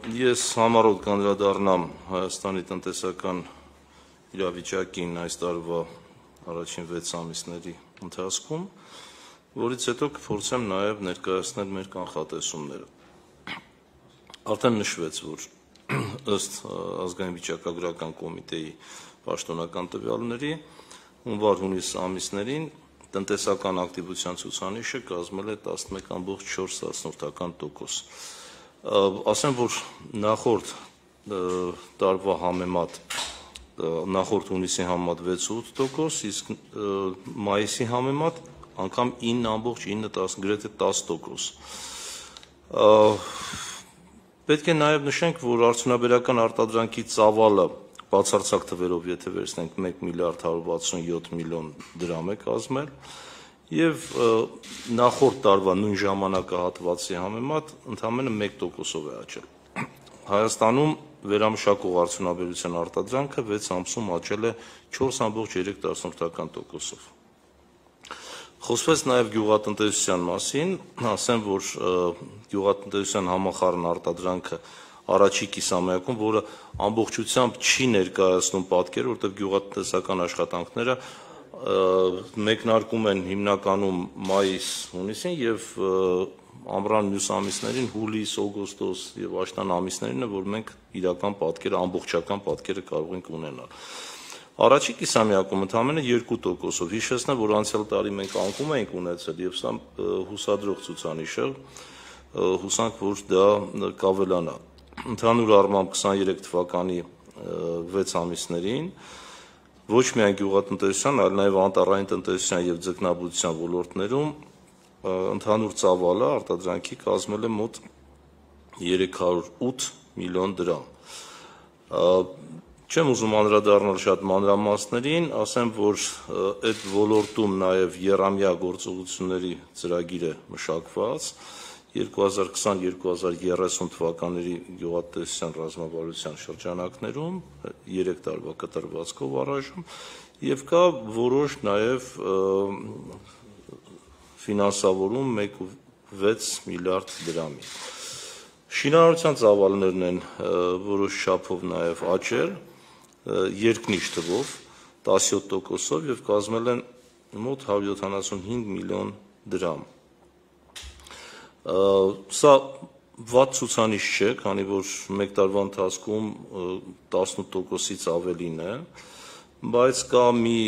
Ես համառոտ կանդրադառնամ Հայաստանի տնտեսական իրավիճակին այս տարվա առաջին 6 ամիսների ընթացքում, որից հետո կփորձեմ նաև ներկայացնել մեր կանխատեսումները։ Արդեն նշվեց, որ ըստ ազգային վիճակագրական կոմիտեի պաշտոնական տվյալների հունվար-հունիս ամիսներին տնտեսական ակտիվության ցուցանիշը կազմել է 11,4%։ Ասեմ, որ նախորդ տարվա համեմատ նախորդ հունիսի համեմատ 6.8%, իսկ մայիսի համեմատ անգամ 9.9, գրեթե 10%։ Պետք է նաև նշենք, որ արդյունաբերական արտադրանքի ծավալը բացարձակ թվերով, եթե վերցնենք 1 միլիարդ 167 միլիոն դրամ է կազմել, եւ նախորդ տարվա նույն ժամանակահատվածի համեմատ ընդամենը 1%-ով է աճել։ Հայաստանում վերամշակող արդյունաբերության արտադրանքը 6 ամսում աճել է 4.3%-ով։ Խոսվեց նաև գյուղատնտեսության մասին, ասեմ, որ գյուղատնտեսության համախառն արտադրանքը առաջի կիսամյակում, որը ամբողջությամբ չի ներկայացնում պատկերը, որտեղ գյուղատնտեսական աշխատանքները մեկնարկում են հիմնականում մայիս-հունիսին եւ ամռան մյուս ամիսներին հուլիս, օգոստոս եւ աշնան ամիսներին է, որ մենք իրական պատկերը, ամբողջական պատկերը կարող ենք ունենալ։ Առաջի կիսամյակում ընդամենը 2%-ով, հիշեցնեմ, որ անցյալ տարի մենք անկում էինք ունեցել եւ սա հուսադրող ցուցանիշ է, հուսանք, որ դա կավելանա։ Ընդհանուր առմամբ 23 թվականի 6 ամիսներին ոչ միայն գյուղատնտեսության, այլ նաև անտառային տնտեսության եւ ձկնաբուծության ոլորտներում ընդհանուր ծավալը արտադրանքի կազմել է մոտ 308 միլիոն դրամ։ Չեմ ուզում անդրադառնալ շատ մանրամասներին, ասեմ, որ այդ ոլորտում նաև եռամյա գործողությունների ծրագիր է մշակված 2020-2030 թվականների գյուղատնտեսության ռազմավարության շրջանակներում 3 տարվա կտրվածքով առայժմ եւ կա որոշ նաև ֆինանսավորում 1.6 միլիարդ դրամի։ Շինարարության ծավալներն են որոշ չափով նաև աճել երկնիշ թվով 17%-ով եւ կազմել են մոտ 175 միլիոն դրամ։ Սա վատ ցուցանիշ չէ, քանի որ մեկ տարվա ընթացքում 18%-ից ավելին է, բայց կա մի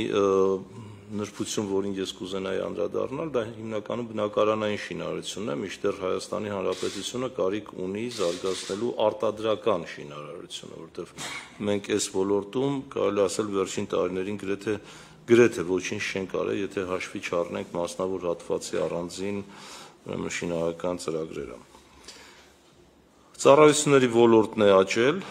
նրբություն, որին ես կուզենայի անդրադառնալ, դա հիմնականում բնակարանային շինարարությունն է, մինչդեռ Հայաստանի Հանրապետությունը կարիք ունի զարգացնելու արտադրական շինարարությունը, որտեղ մենք այս ոլորտում կարելի ասել վերջին տարիներին գրեթե ոչինչ չենք արել, եթե հաշվի չառնենք մասնավոր հատվածի առանձին շինարարական ծրագրերը։ Ծառայությունների ոլորտն է աճել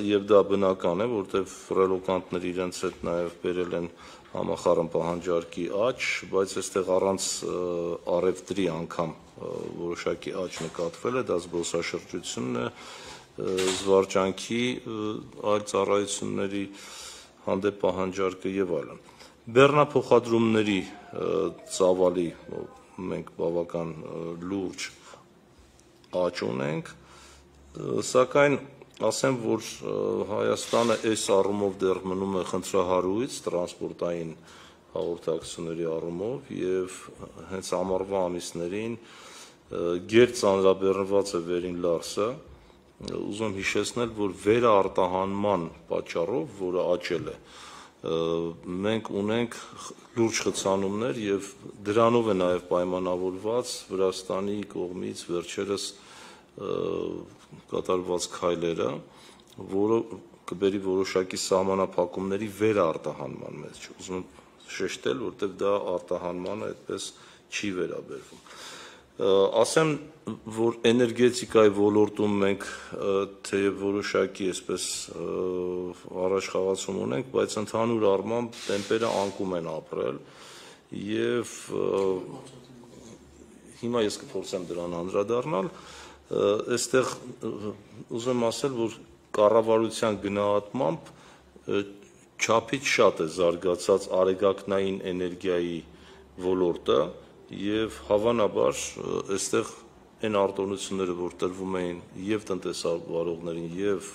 եւ դա բնական է, որտեղ ռելոկանտները իրենց հետ նաեւ բերել են համախառն պահանջարկի աճ, բայց այստեղ առանց առևտրի անգամ որոշակի աճ նկատվել է, դա զբոսաշրջությունն է, զվարճանքի այլ ծառայությունների հանդեպ պահանջարկը եւ այլն։ Բեռնափոխադրումների ծավալի մենք բավական լուրջ աճ ունենք, սակայն ասեմ, որ Հայաստանը այս առումով դեռ մնում է խնդրահարույց տրանսպորտային հաղորդակցությունների առումով եւ հենց ամառվա ամիսներին գերծանրաբեռնված է Վերին Լարսը, ուզում հիշեցնել, որ վերարտահանման պատճառով, որը աճել է, մենք ունենք լուրջ խցանումներ եւ դրանով է նաեւ պայմանավորված Վրաստանի կողմից վերջերս կատարված քայլերը, որը կբերի որոշակի սահմանափակումների վերարտահանման մեջ։ Ուզում եմ շեշտել, որտեղ դա արտահանմանը այդպես չի վերաբերվում։ Ասեմ, որ էներգետիկայի ոլորտում մենք թեև որոշակի այսպես առաջխաղացում ունենք, բայց ընդհանուր առմամբ տեմպերը անկում են ապրել եւ հիմա ես կփորձեմ դրան անդրադառնալ, այստեղ ուզում ասել, որ կառավարության գնահատմամբ չափից շատ է զարգացած արեգակնային էներգիայի ոլորտը եւ հավանաբար այստեղ այն արտոնությունները, որ տրվում էին եւ տնտեսավարողներին եւ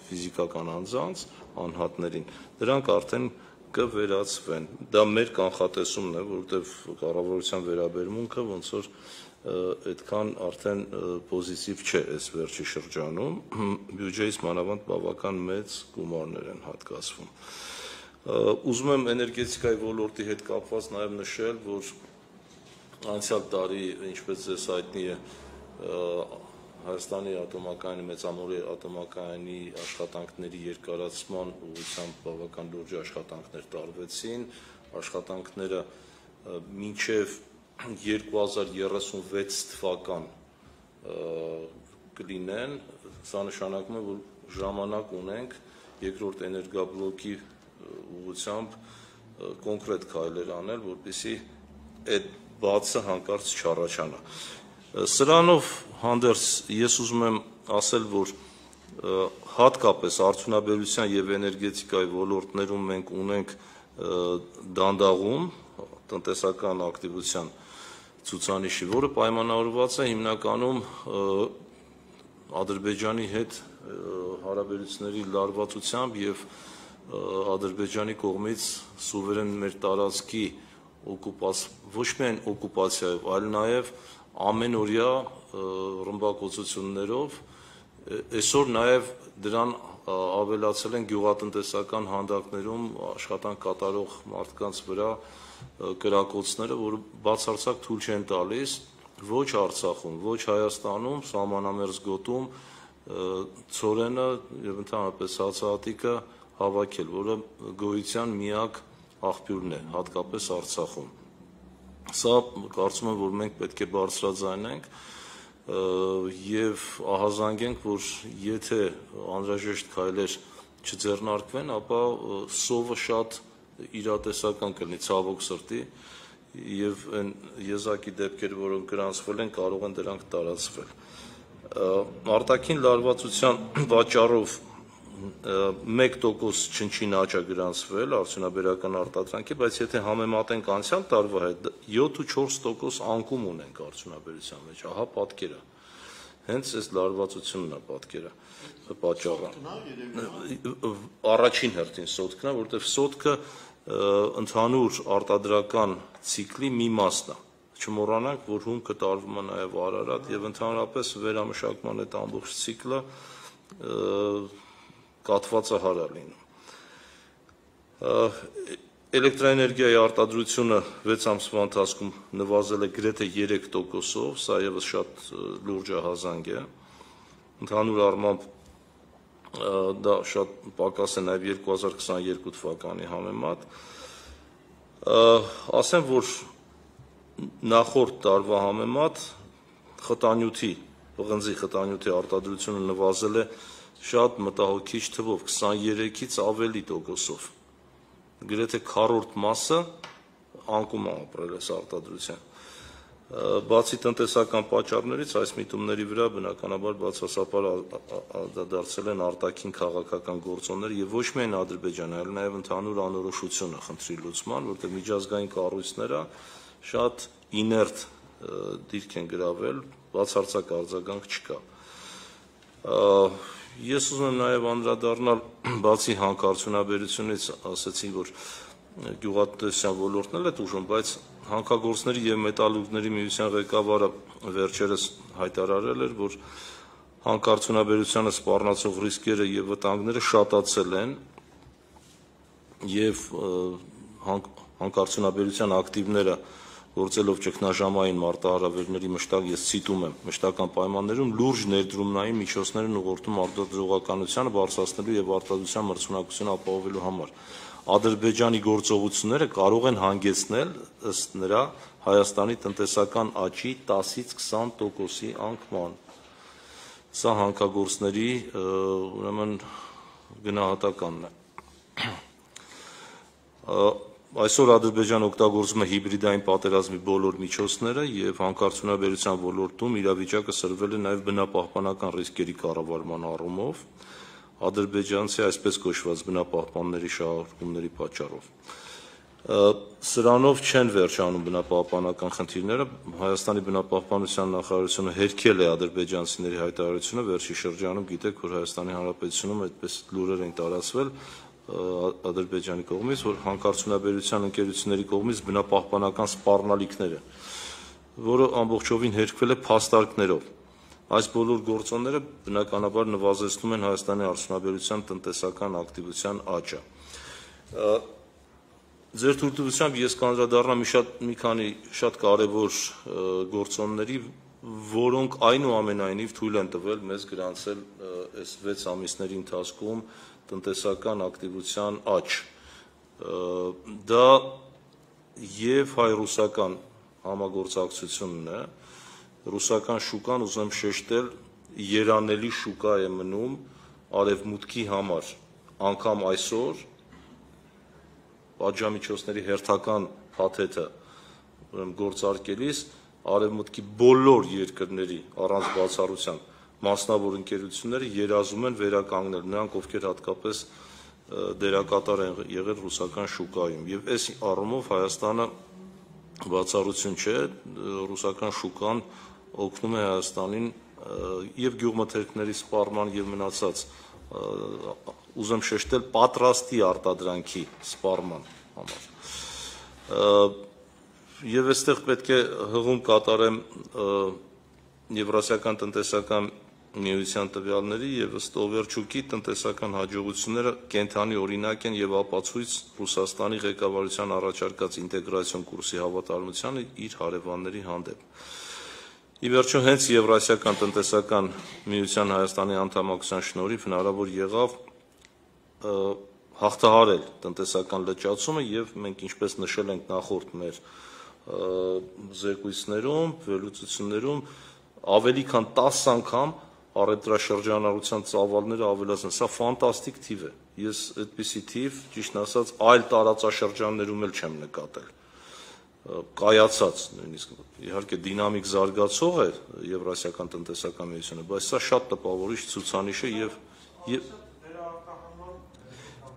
ֆիզիկական անձանց, անհատներին, դրանք արդեն կվերացվեն։ Դա մեր կանխատեսումն է, որովհետեւ կառավարության վերաբերմունքը ոնց որ այդքան արդեն պոզիտիվ չէ այս վերջի շրջանում, բյուջեից մանավանդ բավական մեծ գումարներ են հատկացվում։ Ուզում եմ էներգետիկայի ոլորտի հետ կապված նաեւ նշել, որ անցյալ տարի, ինչպես ձեզ հայտնի է, Հայաստանի ատոմակայանի մեծամոլի ատոմակայանի աշխատանքների երկարացման ուղղությամբ բավական լուրջ աշխատանքներ տարվեցին, աշխատանքները մինչև 2036 թվական կլինեն, սա նշանակում է, որ ժամանակ ունենք երկրորդ էներգաբլոկի ուղղությամբ կոնկրետ քայլեր անել, որպեսզի այդ բացը հանկարծ չառաջանա։ Սրանով հանդերձ ես ուզում եմ ասել, որ հատկապես արդյունաբերության եւ էներգետիկայի ոլորտներում մենք ունենք դանդաղում տնտեսական ակտիվության ցուցանիշի, որը պայմանավորված է հիմնականում Ադրբեջանի հետ հարաբերությունների լարվածությամբ եւ Ադրբեջանի կողմից սուվերեն մեր տարածքի ոչ միայն օկուպացիայով, այլ նաեւ ամենօրյա ռմբակոծություններով, այսօր նաեւ դրան ավելացել են գյուղատնտեսական հանդակներում աշխատանք կատարող մարդկանց վրա կրակոցները, որը բացարձակ թույլ չեն տալիս ոչ Արցախում, ոչ Հայաստանում, սահմանամերձ գոտում ցորենը եւ ընդհանրապես հացահատիկը հավաքել, որը գոյության միակ աղբյուրն է, հատկապես Արցախում։ Սա կարծում եմ, որ մենք պետք է բարձրաձայնենք եւ ահազանգենք, որ եթե անհրաժեշտ քայլեր չձեռնարկվեն, ապա սովը շատ իրատեսական կլինի, ցավոք սրտի, եւ այն եզակի դեպքերը, որոնք գրանցվել են, կարող են դրանք տարածվել։ Արտաքին լարվածության պատճառով 1% չնչին աճ է գրանցվել արդյունաբերական արտադրանքի, բայց եթե համեմատենք անցյալ տարվա հետ, 7-4% անկում ունենք արդյունաբերության մեջ, ահա պատկերը։ Հենց այս լարվածությունն է պատկերը պատճառը։ Առաջին հերթին սոտքն է, որովհետև սոտքը ընդհանուր արտադրական ցիկլի մի մասն է։ Չմոռանանք, որ հումքը տարվում է նաև Արարատ եւ ընդհանրապես վերամշակման այդ ամբողջ ցիկլը կաթվածահար է լինում։ Էլեկտրաէներգիայի արտադրությունը 6 ամսվա ընթացքում նվազել է գրեթե 3%-ով, սա եւս շատ լուրջ ահազանգ է։ Ընդհանուր առմամբ դա շատ պակաս է նաև 2022 թվականի համեմատ։ Ասեմ, որ նախորդ տարվա համեմատ խտանյութի, պղնձի խտանյութի արտադրությունը նվազել է շատ մտահոգիչ թվով 23-ից ավելի տոկոսով։ Գրեթե քառորդ մասը անկում է ապրել այս արտադրության։ Բացի տնտեսական պատճառներից այս միտումների վրա բնականաբար բացասապար դարձել են արտաքին քաղաքական գործոններ եւ ոչ միայն Ադրբեջանը, այլ նաեւ ընդհանուր անորոշությունը խնդրի լուծման, որտեղ միջազգային կառույցները շատ իներտ դիրք են գրավել, բացարձակ արձագանք չկա։ Ես ուզում եմ նաեւ անդրադառնալ բացի հանքարդյունաբերությունից, ասացի, որ գյուղատնտեսության ոլորտն էլ է ուժում, բայց հանքագործների եւ մետալուրգների միության ղեկավարը վերջերս հայտարարել էր, որ հանքարդյունաբերությանը սպառնացող ռիսկերը եւ վտանգները շատացել են եւ հանքարդյունաբերության ակտիվները գործելով ճգնաժամային մարտահրավերների ես ցիտում եմ մշտական պայմաններում լուրջ ներդրումնային միջոցներ են ուղղորդում արտադրողականությանը բարձրացնելու եւ արտադրության մրցունակությունը ապահովելու համար։ Ադրբեջանի գործողությունները կարող են հանգեցնել ըստ նրա Հայաստանի տնտեսական աճի 10-ից 20%-ի անկման։ Սա հանքագործների ուրեմն գնահատականն է։ Այսօր Ադրբեջանը օգտագործում է հիբրիդային պատերազմի բոլոր միջոցները եւ հանքարդյունաբերության ոլորտում իրավիճակը սրվել է նաեւ բնապահպանական ռիսկերի կառավարման առումով ադրբեջանցի այսպես կոչված բնապահպանների շահարկումների պատճառով։ Սրանով չեն վերջանում բնապահպանական խնդիրները, Հայաստանի բնապահպանության նախարարությունը հերքել է ադրբեջանցիների հայտարարությունը, վերջի շրջանում գիտեք, որ Հայաստանի Հանրապետությունում այդպես լուրեր են տարածվել Ադրբեջանի կողմից, որ հանքարդյունաբերության ընկերությունների կողմից բնապահպանական սպառնալիքներ են, որը ամբողջովին հերքվել է փաստարկներով։ Այս բոլոր գործոնները բնականաբար նվազեցնում են Հայաստանի արդյունաբերության տնտեսական ակտիվության աճը։ Ձեր թույլտվությամբ ես կանդրադառնամ մի քանի շատ կարևոր գործոնների, որոնք այնուամենայնիվ թույլ են տվել մեզ գրանցել այս 6 ամիսների ընթացքում տնտեսական ակտիվության աճ։ Դա եւ հայ-ռուսական համագործակցությունն է, ռուսական շուկան, ուզում շեշտել, երանելի շուկա է մնում արևմուտքի համար, անգամ այսօր պատժամիջոցների հերթական փաթեթը գործարկելիս արևմուտքի բոլոր երկրների առանց բացառության մասնավոր ընկերությունները երազում են վերականգնել նրանք, ովքեր հատկապես դերակատար են եղել ռուսական շուկայում, եւ այս առումով Հայաստանը բացառություն չէ, ռուսական շուկան օգնում է Հայաստանին եւ գյուղմթերքների սպառման եւ մնացած ուզեմ շեշտել պատրաստի արտադրանքի սպառման համար։ Եվ այստեղ պետք է հղում կատարեմ Եվրասիական տնտեսական միության տվյալների եւ ըստ Օվերչուկի տնտեսական հաջողությունները կենթանի օրինակ են եւ ապացույց Ռուսաստանի ղեկավարության առաջարկած ինտեգրացիոն կուրսի հավատարմությանը իր հարևանների հանդեպ։ Ի վերջո հենց Եվրասիական տնտեսական միության Հայաստանի անդամակցության շնորհիվ հնարավոր եղավ հաղթահարել տնտեսական լճացումը եւ մենք ինչպես նշել ենք նախորդ մեր զեկույցներում, վերլուծություններում ավելի քան 10 անգամ առևտրաշրջանառության ծավալները ավելացան, սա ֆանտաստիկ թիվ է, ես այդպիսի թիվ, ճիշտ ասած, այլ տարածաշրջաններում էլ չեմ նկատել, կայացած, նույնիսկ իհարկե դինամիկ զարգացող է Եվրասիական տնտեսական միությունը, բայց սա շատ տպավորիչ ցուցանիշ է եւ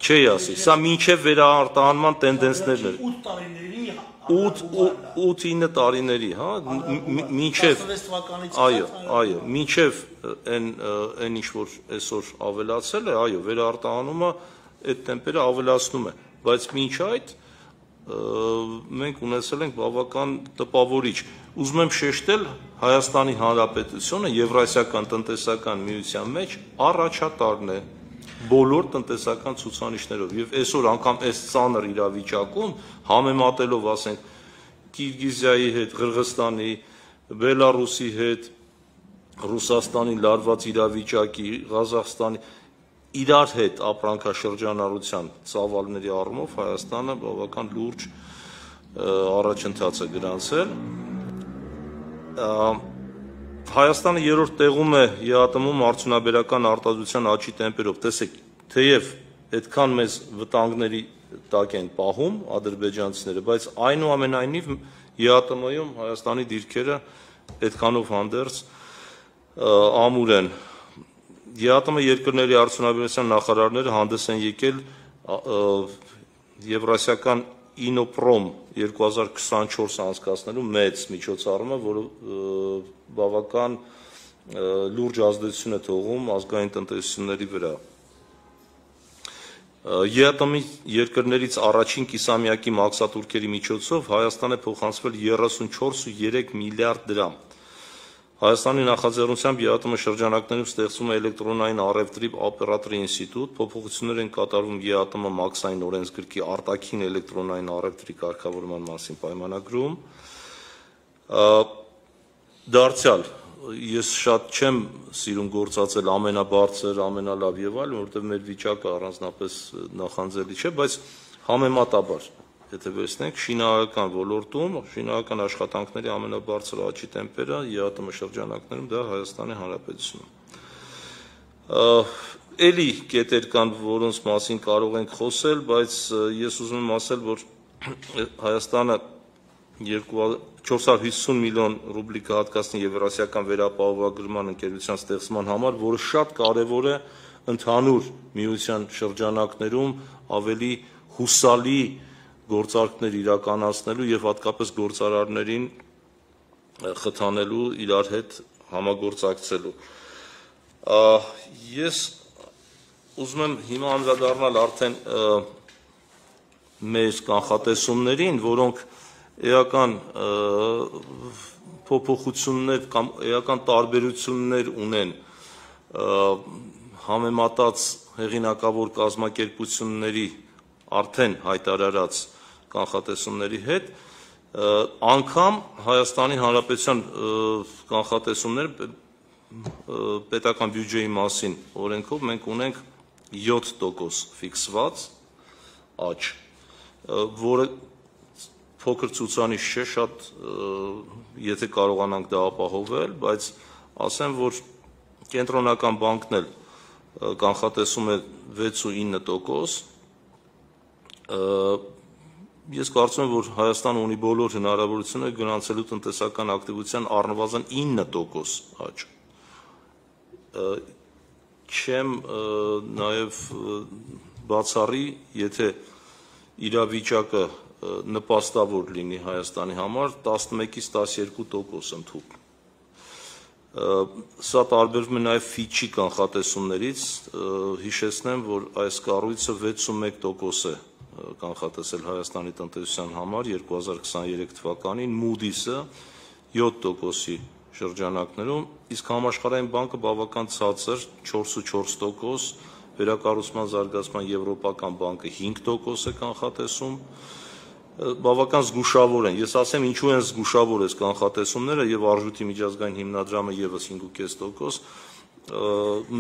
չի ասի, սա մինչև վերարտահանման տենդենսներն են 8-9 տարիների, հա, մինչև, այո, մինչև այն ինչ որ այսօր ավելացել է, այո, վերարտահանումը այդ տեմպերը ավելացնում է, բայց մինչ այդ մենք ունեցել ենք բավական տպավորիչ։ Ուզում եմ շեշտել Հայաստանի Հանրապետությունը Եվրասիական տնտեսական միության մեջ առաջատարն է բոլոր տնտեսական ցուցանիշներով եւ այսօր անգամ այս ծանր իրավիճակում համեմատելով ասենք Կիրգիզիայի հետ, Ղրղստանի, Բելարուսի հետ, Ռուսաստանի լարված իրավիճակի, Ղազախստանի իրար հետ ապրանքաշրջանառության ծավալների առումով Հայաստանը բավական լուրջ առաջընթաց է գրանցել։ Հայաստանը երրորդ տեղում է ԵԱՏՄ-ում արդյունաբերական արտադրության աճի տեմպերով, տեսեք, թեև այդքան մեծ վտանգների տակ են պահում ադրբեջանցիները, բայց այնուամենայնիվ ԵԱՏՄ-ում Հայաստանի դիրքերը այդքանով հանդերձ ամուր են։ ԵԱՏՄ երկրների արդյունաբերության նախարարները հանդես են եկել Եվրասիական Ինոպրոմ 2024 անցկացնելու մեծ միջոցառումը, որը բավական լուրջ ազդեցություն է թողում ազգային տնտեսությունների վրա։ ԵԱՏՄ երկրներից առաջին կիսամյակի մաքսատուրքերի միջոցով Հայաստան է փոխանցվել 34.3 միլիարդ դրամ։ Հայաստանի նախաձեռնությամբ ԵԱՏՄ շրջանակներում ստեղծվում է էլեկտրոնային առևտրի օպերատորի ինստիտուտ, փոփոխություններ են կատարվում ԵԱՏՄ մաքսային օրենսգրքի արտաքին էլեկտրոնային առևտրի կարգավորման մասին պայմանագրում։ Դարձյալ, ես շատ չեմ սիրում գործածել ամենաբարձր, ամենալավ եւ այլն, որովհետեւ մեր վիճակը առանձնապես նախանձելի չէ, բայց համեմատաբար եթե վերցնենք շինարարական ոլորտում, շինարարական աշխատանքների ամենաբարձր աճի տեմպերը ԵԱՏՄ շրջանակներում դա Հայաստանի Հանրապետությունում։ Էլի կետեր կան, որոնց մասին կարող ենք խոսել, բայց ես ուզում եմ ասել, որ Հայաստանը 450 միլիոն ռուբլի կհատկացնի Եվրասիական վերապահովագրման ընկերության ստեղծման համար, որը շատ կարևոր է ընդհանուր միության շրջանակներում ավելի հուսալի գործարքներ իրականացնելու եւ հատկապես գործարարներին խթանելու իրար հետ համագործակցելու։ Ես ուզում եմ հիմա անդրադառնալ արդեն մեր կանխատեսումներին, որոնք էական փոփոխություններ կամ էական տարբերություններ ունեն համեմատած հեղինակավոր կազմակերպությունների արդեն հայտարարած կանխատեսումների հետ, անգամ Հայաստանի Հանրապետության կանխատեսումները պետական բյուջեի մասին օրենքով մենք ունենք 7% ֆիքսված աճ, որը փոքր ցուցանիշ չէ, շատ եթե կարողանանք դա ապահովել, բայց ասեմ, որ կենտրոնական բանկն էլ կանխատեսում է 6-9%, ես կարծում եմ, որ Հայաստանը ունի բոլոր հնարավորությունները գրանցելու տնտեսական ակտիվության առնվազն 9% աճ։ Չեմ նաև բացառի, եթե իրավիճակը նպաստավոր լինի Հայաստանի համար, 11-ից 12% ընդհուպ։ Սա տարբերվում է նաև Ֆիչի կանխատեսումներից, հիշեցնեմ, որ այս կառույցը 61% է կանխատեսել Հայաստանի տնտեսության համար 2023 թվականին, Moody's-ը 7%-ի շրջանակներում, իսկ Համաշխարհային բանկը բավական ցածր 4.4%, Վերակառուցման զարգացման Եվրոպական բանկը 5% է կանխատեսում, բավական զգուշավոր են։ Ես ասեմ, ինչու են զգուշավոր այս կանխատեսումները եւ Արժույթի միջազգային հիմնադրամը եւս 5.5%,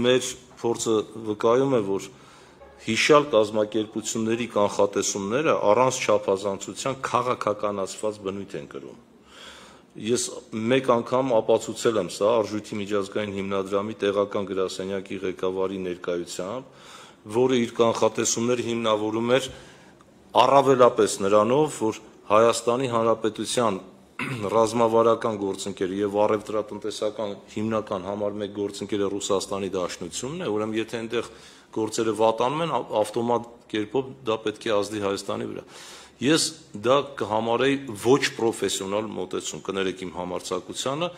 մեր փորձը վկայում է, որ հիշյալ կազմակերպությունների կանխատեսումները առանց չափազանցության քաղաքականացված բնույթ են կրում։ Ես մեկ անգամ ապացուցել եմ սա Արժույթի միջազգային հիմնադրամի տեղական գրասենյակի ղեկավարի ներկայությամբ, որը իր կանխատեսումները հիմնավորում էր առավելապես նրանով, որ Հայաստանի Հանրապետության ռազմավարական գործընկերը եւ առևտրատնտեսական հիմնական համար 1 գործընկերը Ռուսաստանի Դաշնությունն է, ուրեմն եթե այնտեղ գործերը վատանում են, ավտոմատ կերպով դա պետք է ազդի Հայաստանի վրա։ Ես դա կհամարեի ոչ պրոֆեսիոնալ մոտեցում, կներեք իմ համարձակությանը,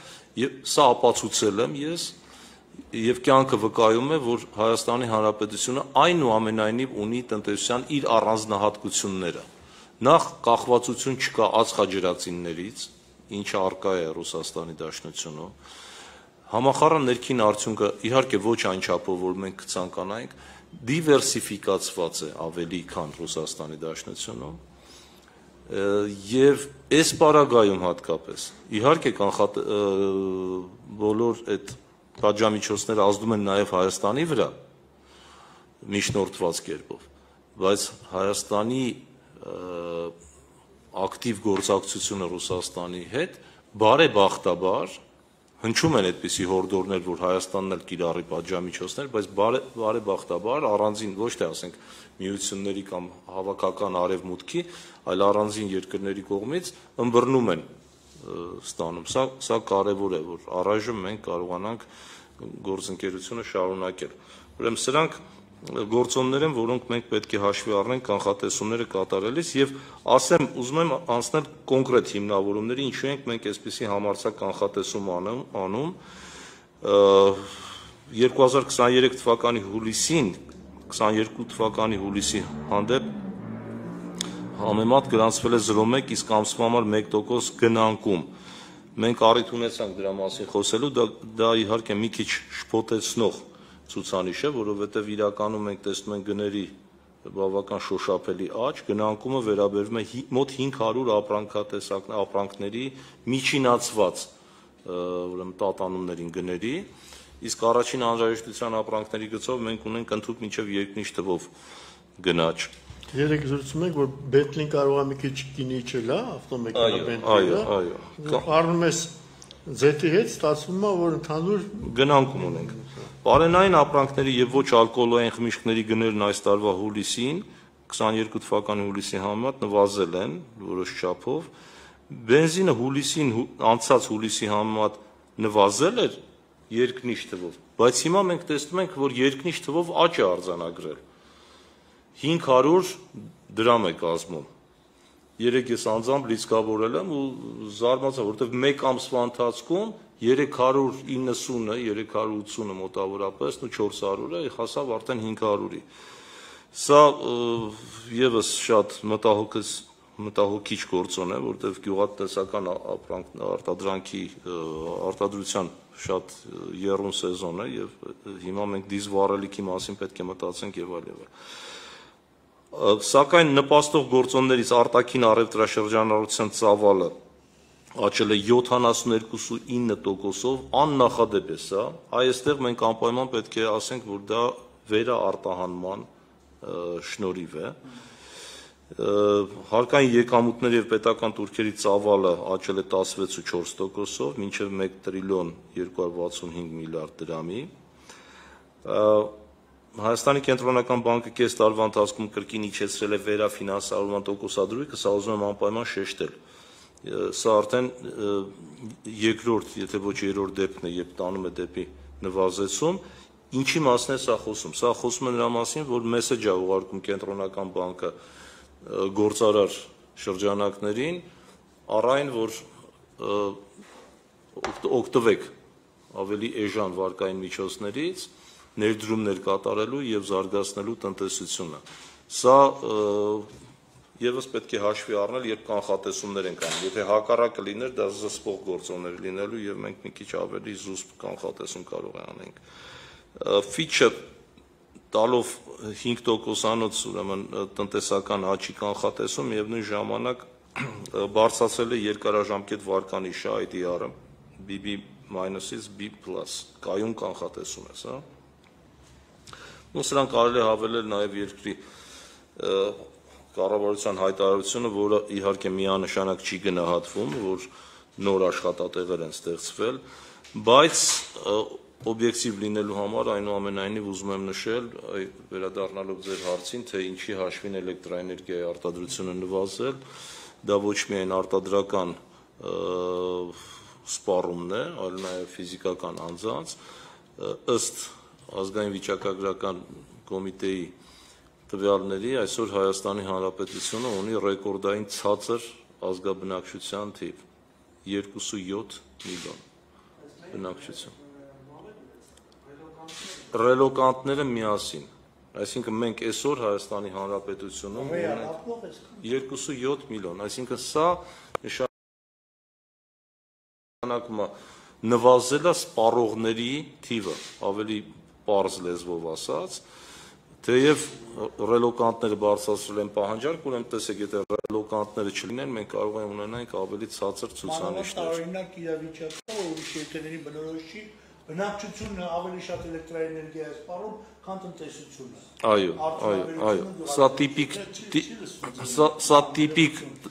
եւ սա ապացուցել եմ ես, եւ կյանքը վկայում է, որ Հայաստանի Հանրապետությունը այնուամենայնիվ ունի տնտեսության իր առանձնահատկությունները։ Նախ կախվածություն չկա ածխաջրածիններից, ինչը առկա է Ռուսաստանի Դաշնությունում։ Համախառն ներքին արդյունքը իհարկե ոչ այն չափով, որ մենք կցանկանայինք, դիվերսիֆիկացված է ավելի, քան Ռուսաստանի Դաշնությունում, եւ այս պարագայում հատկապես իհարկե բոլոր այդ պատժամիջոցները ազդում են նաեւ Հայաստանի վրա միջնորդված կերպով, բայց Հայաստանի ակտիվ գործակցությունը Ռուսաստանի հետ բարեբախտաբար հնչում են այդպիսի հորդորներ, որ Հայաստանն էլ կիրառի պատժամիջոցներ, բայց բարեբախտաբար առանձին ոչ թե ասենք միությունների կամ հավաքական արևմուտքի, այլ առանձին երկրների կողմից ըմբռնում են ստանում։ Սա կարևոր է, որ առայժմ մենք կարողանանք գործընկերությունը շարունակել։ Ուրեմն սրանք գործոններ են, որոնք մենք պետք է հաշվի առնենք կանխատեսումները կատարելիս եւ ասեմ, ուզում եմ անցնել կոնկրետ հիմնավորումների, ինչու ենք մենք այսպիսի համարձակ կանխատեսում անում 2023 թվականի հուլիսին 22 թվականի հուլիսի հանդեպ համեմատ գրանցվել է 0.1, իսկ ամսվա համար 1% գնանկում։ Մենք առիթ ունեցանք դրա մասին խոսելու, դա իհարկե մի քիչ շփոթեցնող ցուցանիշ է, որովհետև իրականում մենք տեսնում ենք գների բավական շոշափելի աճ, գնանկումը վերաբերվում է մոտ 500 ապրանքների միջինացված ուրեմն տատանումներին գների, իսկ առաջին անհրաժեշտության ապրանքների գծով մենք ունենք ընդհանուր մինչև երկնիշ թվով գնաճ։ Երեք զրուցում ենք, որ Bentley-ն կարող է մի քիչ կինի չլա, ավտոմեքենա Bentley-ը։ Այո։ Առնում ես Z-ի հետ, ստացվում է, որ ընդհանուր գնանկում ունենք։ Բարենային ապրանքների եւ ոչ ալկոհոլային խմիչքների գներն այս տարվա հուլիսին 22 թվականի հուլիսի համեմատ նվազել են որոշ չափով։ Բենզինը հուլիսին անցած հուլիսի համեմատ նվազել էր երկնիշ թվով, բայց հիմա մենք տեսնում ենք, որ երկնիշ թվով աճ է արձանագրել։ 500 դրամ է կազմում։ երեք ես անձամբ լիցքավորել եմ ու զարմացա, որովհետև մեկ ամսվա ընթացքում 390-ը, 380-ը մոտավորապես ու 400-ը հասավ արդեն 500-ի։ Սա եւս շատ մտահոգիչ գործոն է, որովհետև գյուղատնտեսական արտադրության շատ եռուն սեզոն է եւ հիմա մենք դիզվառելիքի մասին պետք է մտածենք եւ այլ եւ այլ։ Սակայն նպաստող գործոններից արտաքին առևտրաշրջանառության ծավալը աճել է 72.9%-ով, աննախադեպ է սա, այստեղ մենք անպայման պետք է ասենք, որ դա վերաարտահանման շնորհիվ է։ Հարկային եկամուտների եւ պետական տուրքերի ծավալը աճել է 16.4%-ով, մինչեւ 1 տրիլիոն 265 միլիարդ դրամի։ Հայաստանի կենտրոնական բանկը կես տարվա ընթացքում կրկին իջեցրել է վերաֆինանսավորման տոկոսադրույքը, սա ուզում եմ անպայման շեշտել։ Սա արդեն երկրորդ, եթե ոչ երրորդ դեպքն է, երբ տանում է դեպի նվազեցում։ Ինչի մասին է սա խոսում։ Սա խոսում է նրա մասին, որ մեսեջ է ուղարկում կենտրոնական բանկը գործարար շրջանակներին, առայն որ օգտվեք ավելի էժան վարկային միջոցներից, ներդրումներ կատարելու եւ զարգացնելու տնտեսությունը։ Սա եւս պետք է հաշվի առնել, երբ կանխատեսումներ ենք անում։ Եթե հակառակը լիներ, դա զսպող գործոններ լինելու եւ մենք մի քիչ ավելի զուսպ կանխատեսում կարող անենք։ Ֆիչը տալով 5%-անոց ուրեմն տնտեսական աճի կանխատեսում եւ նույն ժամանակ բարձրացել է երկարաժամկետ վարկանիշը IDR-ը BB-ից B+, կայուն կանխատեսում է սա։ Ու սրան կարելի է հավելել նաև երկրի կառավարության հայտարարությունը, որը իհարկե միանշանակ չի գնահատվում, որ նոր աշխատատեղեր են ստեղծվել, բայց օբյեկտիվ լինելու համար այնուամենայնիվ ուզում եմ նշել, վերադառնալով ձեր հարցին, թե ինչի հաշվին էլեկտրաէներգիայի արտադրությունը նվազել, դա ոչ միայն արտադրական սպառումն է, այլ նաև ֆիզիկական անձանց, ըստ ազգային վիճակագրական կոմիտեի տվյալների այսօր Հայաստանի Հանրապետությունը ունի ռեկորդային ցածր ազգաբնակչության թիվ 2.7 միլիոն բնակչություն։ Ռելոկանտները միասին, այսինքն մենք այսօր Հայաստանի Հանրապետությունում ունենք 2.7 միլիոն, այսինքն սա նշանակում է նվազել է սպառողների թիվը, ավելի պարզ լեզվով ասած, թեև ռելոկանտները բարձրացրել են պահանջարկ, ուրեմն տեսեք, եթե ռելոկանտները չլինեն, մենք կարող ենք ունենալ ավելի ցածր ցուցանիշներ։ Օրինակ իրավիճակը, որ ուրիշ երկրների բնորոշի բնակչությունը ավելի շատ էլեկտրաէներգիա է սպառում, քան տնտեսությունը։ Այո, սա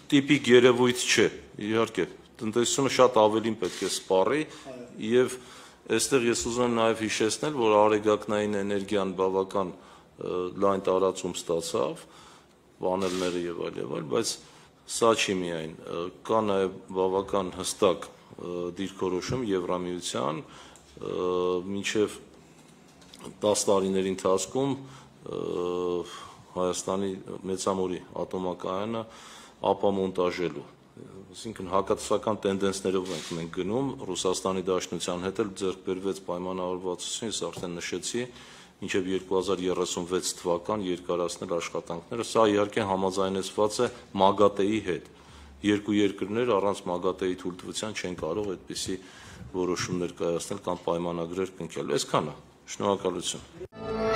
տիպիկ երևույթ չէ, իհարկե, տնտեսությունը շատ ավելին պետք է սպառի եւ այստեղ ես ուզում եմ նաև հիշեցնել, որ արեգակնային էներգիան բավական լայն տարածում ստացավ, պանելները եւ այլ, բայց սա չի միայն, կա նաև բավական հստակ դիրքորոշում Եվրամիության, մինչև 10 տարիների ընթացքում Հայաստանի Մեծամորի ատոմակայանը ապամոնտաժելու, այսինքն հակատեսական տենդենսներով ենք մենք գնում, Ռուսաստանի Դաշնության հետ էլ ձեռք բերվեց պայմանավորվածություն, ես արդեն նշեցի, մինչև 2036 թվական երկարացնել աշխատանքները, սա իհարկե համաձայնեցված է ՄԱԳԱՏԵ-ի հետ, երկու երկրներ առանց ՄԱԳԱՏԵ-ի թույլտվության չեն կարող այդպիսի որոշումներ կայացնել կամ պայմանագրեր կնքել, այսքանը, շնորհակալություն։